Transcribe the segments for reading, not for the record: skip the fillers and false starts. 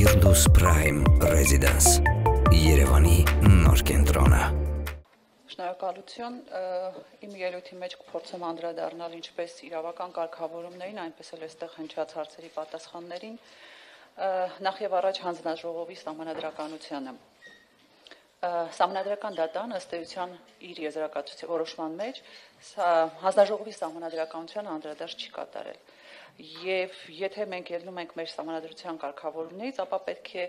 Firdaus Prime Residence Երևանի նոր կենտրոնը Շնորհակալություն իմ ելույթի մեջ կփորձեմ անդրադառնալ ինչպես իրավական կարգավորումներին, այնպես էլ այստեղ հնչած հարցերի պատասխաններին, նախ եւ առաջ հանձնաժողովի սահմանադրականությանը։ Սահմանադրական դատան ըստ էության իր եզրակացության որոշման մեջ հանձնաժողովի սահմանադրականության անդրադարձ չի կատարել։ Եվ եթե մենք ելնում ենք մեր սահմանադրության կարգավորումներից, ապա պետք է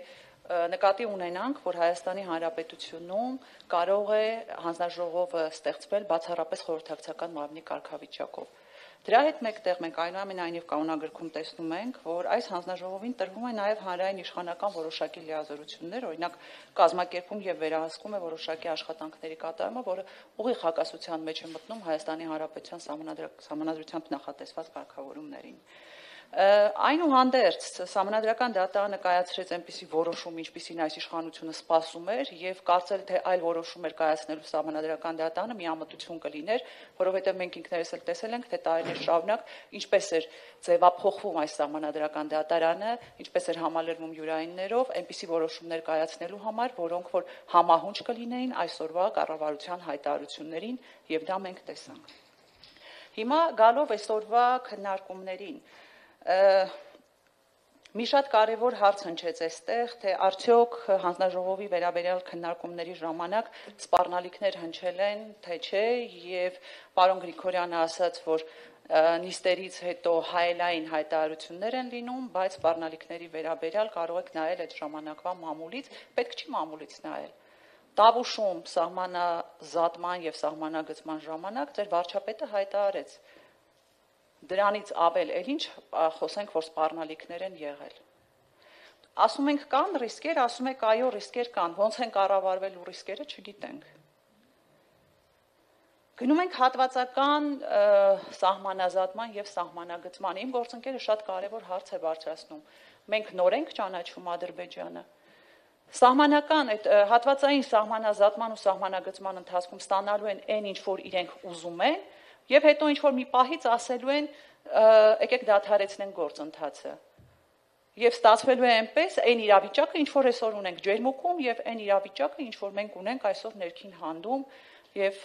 նկատի ունենանք, որ Հայաստանի Հանրապետությունում կարող է հանձնաժողովը ստեղծվել բացառապես խորհրդակցական մարմնի կարգավիճակով։ Դրա հետ մեկտեղ մենք այնուամենայնիվ կանոնագրքում տեսնում ենք, որ այս հանձնաժողովին տրվում է նաև հանրային իշխանական որոշակի լիազորություններ, օրինակ կազմակերպում եւ վերահսկում է որոշակի աշխատանքների կատարումը, որը ուղիղ հակասության մեջ է մտնում Հայաստանի Հանրապետության սահմանադրությամբ նախատեսված կարգավորումներին։ Այնուհանդերձ սահմանադրական դատարանը կայացրեց այնպիսի որոշում, ինչպիսին այս իշխանությունը սպասում էր, եւ կարծել թե այլ որոշում էր կայացնելու սահմանադրական դատարանը միամտություն կլիներ, որովհետեւ մենք ինքներս էլ տեսել ենք, թե տարիներ շարունակ ինչպես էր ձևափոխվում այս սահմանադրական դատարանը, ինչպես էր համալրվում յուրայիններով, այնպիսի որոշումներ կայացնելու համար, որոնք որ համահունչ կլինեին այսօրվա կառավարության հայտարարություններին, եւ դա մենք տեսանք։ Հիմա գալով այսօրվա քննարկումներին մի շատ կարևոր հարց հնչեց այստեղ, թե արդյոք հանձնաժողովի վերաբերյալ քննարկումների ժամանակ սպառնալիքներ հնչել են, թե չէ, եւ պարոն Գրիգորյանը ասաց, որ նիստերից հետո հայելային հայտարարություններ են լինում, բայց սպառնալիքների վերաբերյալ կարող եք նայել այդ ժամանակվա մամուլից, պետք չի մամուլից նայել։ Տավուշում սահմանազատման եւ սահմանագծման ժամանակ ձեր վարչապետը հայտարարեց Դրանից ավել էլ ինչ խոսենք, որ սպառնալիքներ են եղել։ Ասում ենք կան ռիսկեր, ասում եք այո ռիսկեր կան, ոնց են կառավարվելու ռիսկերը չգիտենք։ Գնում ենք հատվածական սահմանազատման եւ սահմանագծման։ Իմ գործընկերը շատ կարեւոր հարց է բարձրացնում։ Մենք նոր ենք ճանաչում Ադրբեջանը։ Սահմանական այդ հատվածային սահմանազատման ու սահմանագծման ընթացքում ստանալու են այն ինչ որ իրենք ուզում են Եվ հետո ինչ-որ մի պահից ասելու են, եկեք դադարեցնենք գործընթացը։ Եվ ստացվելու է այնպես, այն իրավիճակը, ինչ-որ այսօր ունենք ջերմուկում, եւ այն իրավիճակը, ինչ-որ մենք ունենք այսօր ներքին հանդում եւ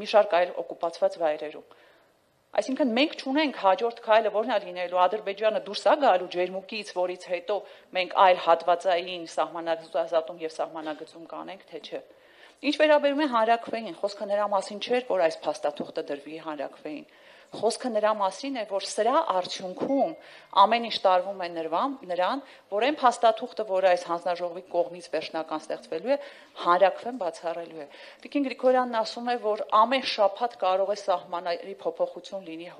մի շարք այլ օկուպացված վայրերում։ Այսինքն մենք չունենք հաջորդ քայլը, որն է լինելու Ադրբեջանը դուրս է գալու ջերմուկից, որից հետո մենք այլ հատվածային սահմանազատում եւ սահմանագծում կանենք, թե չէ։ Ինչ վերաբերում է հանրաքվեին, խոսքը նրա մասին չէր, որ այս փաստաթուղթը դրվի հանրաքվեին։ Խոսքը նրա մասին է, որ սրա արդյունքում ամեն ինչ տարվում է նրան, որ այն փաստաթուղթը, որ այս հանձնաժողովի կողմից վերջնական ստեղծվելու է, հանրաքվեն բացառելու է։ Տիկին Գրիգորյանն ասում է, որ ամեն շաբաթ կարող է սահմանների փոփոխություն լինի,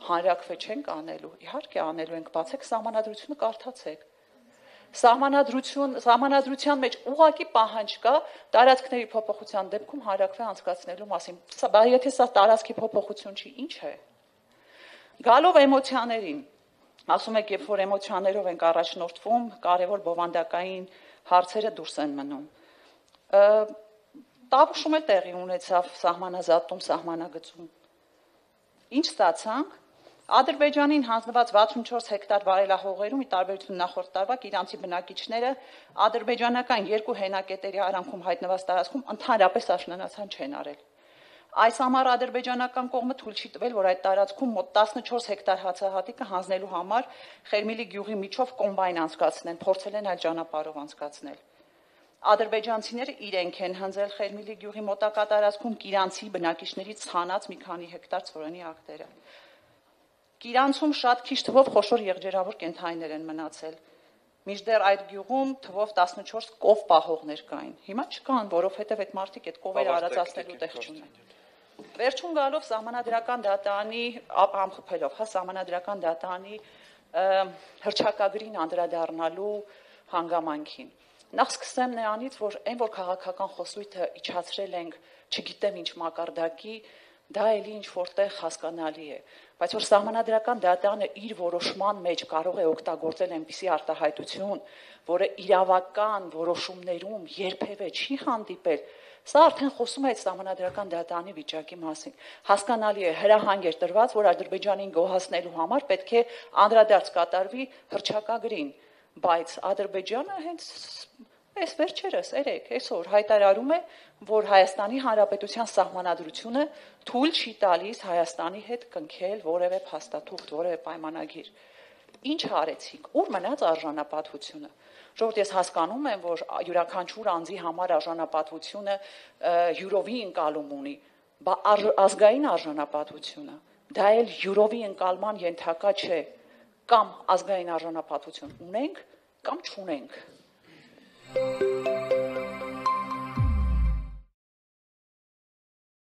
հանրաքվե չենք անելու։ Իհարկե անելու ենք, բացեք սահմանադրությունը կարդացեք։ Սահմանադրության մեջ ուղղակի պահանջ կա տարածքների փոփոխության դեպքում հանրաքվե անցկացնելու մասին։ Բայց եթե սա տարածքի փոփոխություն չի, ինչ է։ Գալով էմոցիաներին, ասում եք, երբ որ էմոցիաներով ենք առաջնորդվում, կարևոր բովանդակային հարցերը դուրս են մնում։ Տավուշում էլ տեղի ունեցավ սահմանազատում, սահմանագծում։ Ինչ ստացանք։ Ադրբեջանին հանձնված 64 հեկտար վարելահողերում ի տարբերություն նախորդ տարվա իրանցի բնակիչները ադրբեջանական երկու հենակետերի արանքում հայտնված տարածքում ընդհանրապես աշնանացան չեն արել։ Այս համար ադրբեջանական կողմը թույլ չի տվել, որ այդ տարածքում մոտ 14 հեկտար հացահատիկը հանձնելու համար Խերմիլի գյուղի միջով կոմբայն անցկացնեն, փորձել են այլ ճանապարհով անցկացնել։ Ադրբեջանցիները իրենք են հնձել Խերմիլի գյուղի մոտակա տարածքում իրանցի բնակիչներից ցանած մի քանի հեկտար ծորենի ակտերը։ Իրանցում շատ քիչ թվով խոշոր եղջերավոր կենդանիներ են մնացել։ Մինչդեռ այդ գյուղում թվով 14 կով պահողներ կային։ Հիմա չկան, որովհետև այդ մարդիկ այդ կովերը արածացնելու տեղ չունեն։ Վերջում գալով սահմանադրական դատարանի ամփոփելով, սահմանադրական դատարանի հռչակագրին անդրադառնալու հանգամանքին։ Նախ սկսեմ նրանից, որ այն որ քաղաքական խոսույթը իջացրել ենք, չգիտեմ ինչ մակարդակի, դա էլի ինչ որտեղ հասկանալի է, բայց որ սահմանադրական դատարանը իր որոշման մեջ կարող է օգտագործել այնպիսի արտահայտություն, որը իրավական որոշումներում երբևէ չի հանդիպել, սա արդեն խոսում է այդ սահմանադրական դատարանի վիճակի մասին։ Հասկանալի է, հրահանգ էր տրված, որ Ադրբեջանին գոհացնելու համար պետք է անդրադարձ կատարվի հռչակագրին, բայց Ադրբեջանը հենց այս վերջերս այսօր հայտարարում է, որ Հայաստանի Հանրապետության սահմանադրությունը թույլ չի տալիս Հայաստանի հետ կնքել որևէ փաստաթուղթ, որևէ պայմանագիր։ Ինչ արեցիք, ուր մնաց արժանապատվությունը։ Ժողովուրդ, ես հասկանում եմ, որ յուրաքանչյուր անձի համար արժանապատվությունը յուրովի ընկալում ունի, բայց ազգային արժանապատվությունը դա էլ յուրովի ընկալման ենթակա չէ, կամ ազգային արժանապատվություն ունենք, կամ չունենք։